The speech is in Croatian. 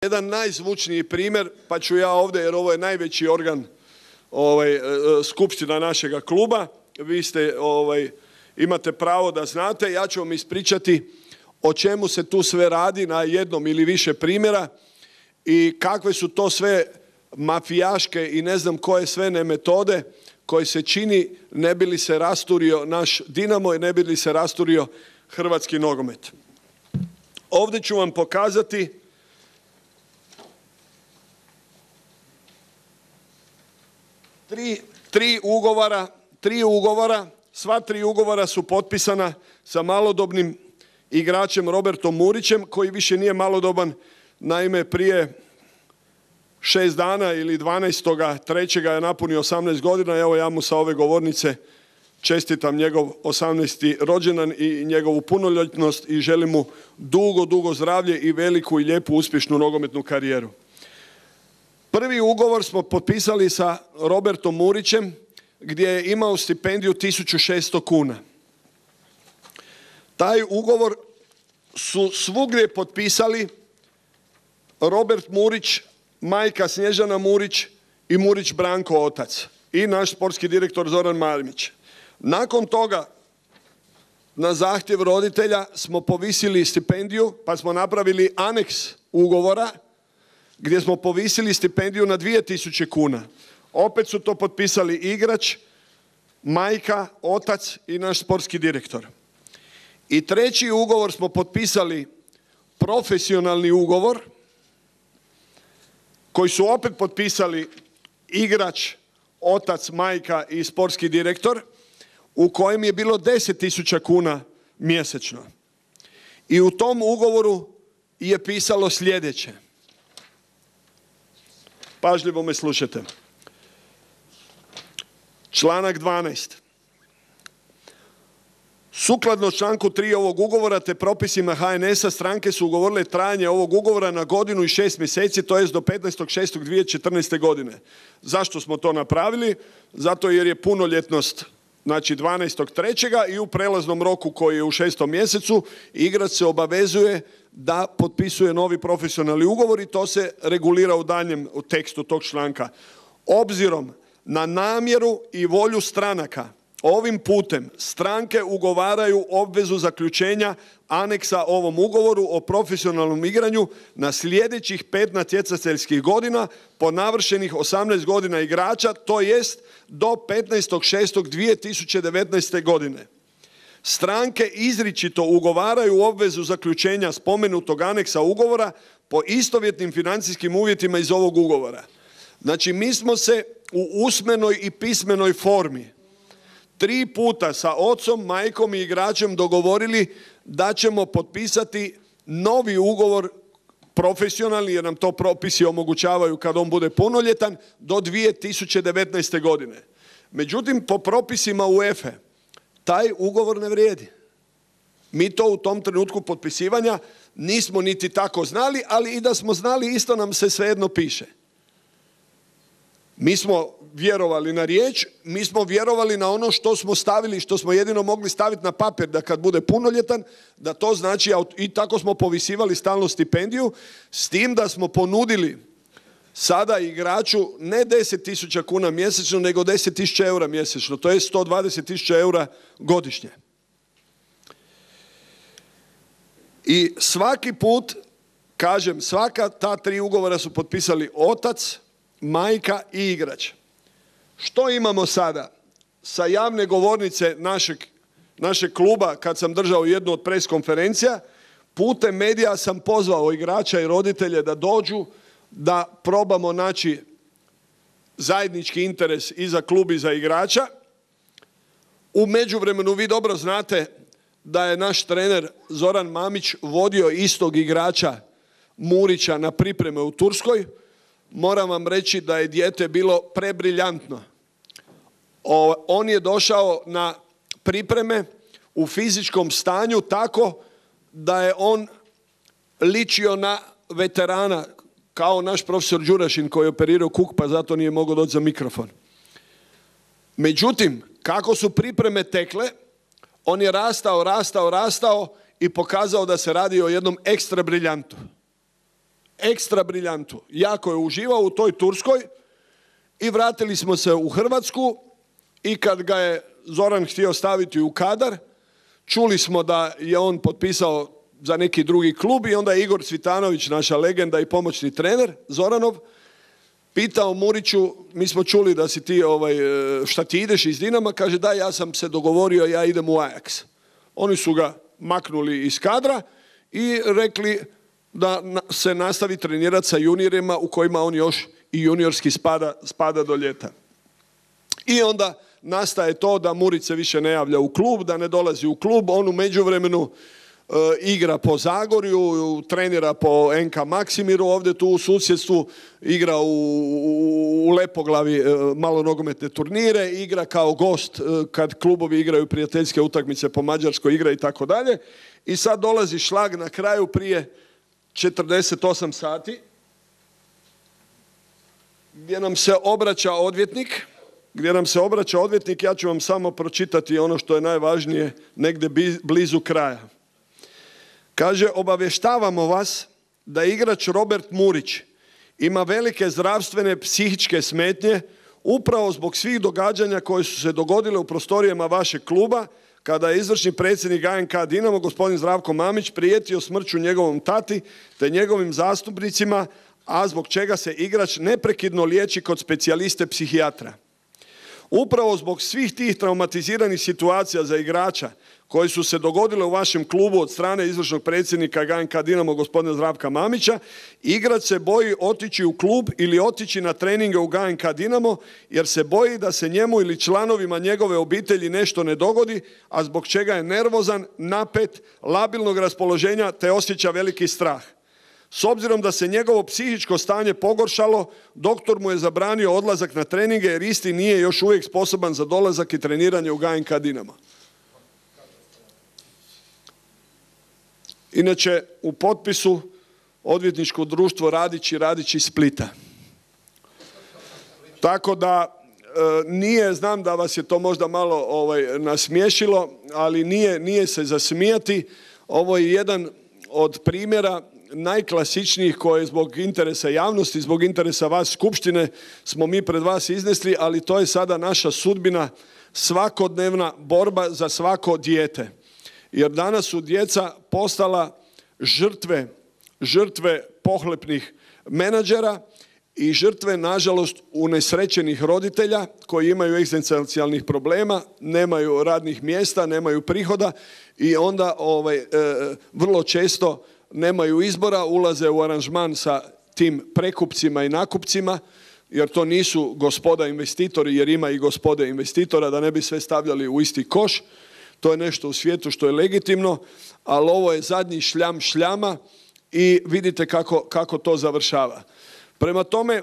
jedan najzvučniji primjer, pa ću ja ovdje, jer ovo je najveći organ skupština našega kluba, vi ste, imate pravo da znate, ja ću vam ispričati o čemu se tu sve radi na jednom ili više primjera i kakve su to sve mafijaške i ne znam koje sve ne metode koje se čini ne bi li se rasturio naš Dinamo i ne bi li se rasturio hrvatski nogomet. Ovdje ću vam pokazati tri ugovora, sva tri ugovora su potpisana sa malodobnim igračem Robertom Murićem, koji više nije malodoban, naime prije 6 dana ili 12.3. je napunio 18 godina, evo ja mu sa ove govornice čestitam njegov 18. rođendan i njegovu punoljetnost i želim mu dugo zdravlje i veliku i lijepu uspješnu nogometnu karijeru. Prvi ugovor smo potpisali sa Robertom Murićem gdje je imao stipendiju 1600 kuna. Taj ugovor su svugdje potpisali Robert Murić, majka Snježana Murić i Murić Branko otac i naš sportski direktor Zoran Marmić. Nakon toga na zahtjev roditelja smo povisili stipendiju pa smo napravili aneks ugovora gdje smo povisili stipendiju na 2000 kuna. Opet su to potpisali igrač, majka, otac i naš sportski direktor. I treći ugovor smo potpisali profesionalni ugovor koji su opet potpisali igrač, otac, majka i sportski direktor u kojem je bilo 10.000 kuna mjesečno. I u tom ugovoru je pisalo sljedeće. Pažljivo me slušajte. Članak 12. Sukladno članku 3 ovog ugovora te propisima HNS-a stranke su ugovorile trajanje ovog ugovora na godinu i 6 mjeseci, to jest do 15.6.2014. godine. Zašto smo to napravili? Zato jer je punoljetnost, znači 12.3. i u prelaznom roku koji je u 6. mjesecu igrač se obavezuje da potpisuje novi profesionalni ugovor i to se regulira u daljnjem tekstu tog članka. Obzirom na namjeru i volju stranaka, ovim putem stranke ugovaraju obvezu zaključenja aneksa ovom ugovoru o profesionalnom igranju na sljedećih 5 natjecateljskih godina po navršenih 18 godina igrača, to jest do 15.6.2019. godine. Stranke izričito ugovaraju obvezu zaključenja spomenutog aneksa ugovora po istovjetnim financijskim uvjetima iz ovog ugovora. Znači, mi smo se u usmenoj i pismenoj formi 3 puta sa ocom, majkom i igračem dogovorili da ćemo potpisati novi ugovor profesionalni, jer nam to propisi omogućavaju kad on bude punoljetan, do 2019. godine. Međutim, po propisima UEFA taj ugovor ne vrijedi. Mi to u tom trenutku potpisivanja nismo niti tako znali, ali i da smo znali isto nam se svejedno piše. Mi smo vjerovali na riječ, mi smo vjerovali na ono što smo stavili, što smo jedino mogli staviti na papir da kad bude punoljetan, da to znači, i tako smo povisivali stalno stipendiju, s tim da smo ponudili sada igraču ne 10.000 kuna mjesečno, nego 10.000 eura mjesečno, to je 120.000 eura godišnje. I svaki put, kažem, svaka ta 3 ugovora su potpisali otac, majka i igrač. Što imamo sada? Sa javne govornice našeg kluba, kad sam držao jednu od pres konferencija, putem medija sam pozvao igrača i roditelje da dođu, da probamo naći zajednički interes i za klub i za igrača. U međuvremenu vi dobro znate da je naš trener Zoran Mamić vodio istog igrača Murića na pripreme u Turskoj. Moram vam reći da je dijete bilo prebriljantno. On je došao na pripreme u fizičkom stanju tako da je on ličio na veterana, kao naš profesor Đurašin koji je operirao kuk pa zato nije mogao doći za mikrofon. Međutim, kako su pripreme tekle, on je rastao i pokazao da se radi o jednom ekstra briljantu. ekstra briljantu. Jako je uživao u toj Turskoj i vratili smo se u Hrvatsku i kad ga je Zoran htio staviti u kadar, čuli smo da je on potpisao za neki drugi klub i onda je Igor Cvitanović, naša legenda i pomoćni trener, Zoranov, pitao Muriću, mi smo čuli da si ti, šta ti ideš iz Dinama, kaže da, ja sam se dogovorio, ja idem u Ajax. Oni su ga maknuli iz kadra i rekli da se nastavi trenirati sa juniorima u kojima on još i juniorski spada do ljeta. I onda nastaje to da Murić se više ne javlja u klub, da ne dolazi u klub, on u međuvremenu igra po Zagorju, trenira po NK Maksimiru, ovdje tu u susjedstvu, igra u Lepoglavi malo nogometne turnire, igra kao gost kad klubovi igraju prijateljske utakmice po Mađarskoj, igra i tako dalje. I sad dolazi šlag na kraju prije 48 sati gdje nam se obraća odvjetnik, ja ću vam samo pročitati ono što je najvažnije negdje blizu kraja. Kaže, obavještavamo vas da igrač Robert Murić ima velike zdravstvene psihičke smetnje upravo zbog svih događanja koje su se dogodile u prostorijama vašeg kluba kada je izvršni predsjednik ANK Dinamo, gospodin Zdravko Mamić, prijetio smrću njegovom tati te njegovim zastupnicima, a zbog čega se igrač neprekidno liječi kod specijaliste psihijatra. Upravo zbog svih tih traumatiziranih situacija za igrača koje su se dogodile u vašem klubu od strane izvršnog predsjednika ANK Dinamo gospodina Zdravka Mamića, igrač se boji otići u klub ili otići na treninge u ANK Dinamo jer se boji da se njemu ili članovima njegove obitelji nešto ne dogodi, a zbog čega je nervozan, napet, labilnog raspoloženja te osjeća veliki strah. S obzirom da se njegovo psihičko stanje pogoršalo, doktor mu je zabranio odlazak na treninge jer isti nije još uvijek sposoban za dolazak i treniranje u ANK Dinamo. Inače, u potpisu odvjetničko društvo Radići Splita. Tako da nije, znam da vas je to možda malo nasmiješilo, ali nije se za smijati. Ovo je jedan od primjera najklasičnijih koje zbog interesa javnosti, zbog interesa vas skupštine smo mi pred vas iznesli, ali to je sada naša sudbina, svakodnevna borba za svako dijete. Jer danas su djeca postala žrtve pohlepnih menadžera i žrtve, nažalost, unesrećenih roditelja koji imaju egzistencijalnih problema, nemaju radnih mjesta, nemaju prihoda i onda vrlo često nemaju izbora, ulaze u aranžman sa tim prekupcima i nakupcima, jer to nisu gospoda investitori, jer ima i gospode investitora, da ne bi sve stavljali u isti koš. To je nešto u svijetu što je legitimno, ali ovo je zadnji šljam šljama i vidite kako to završava. Prema tome,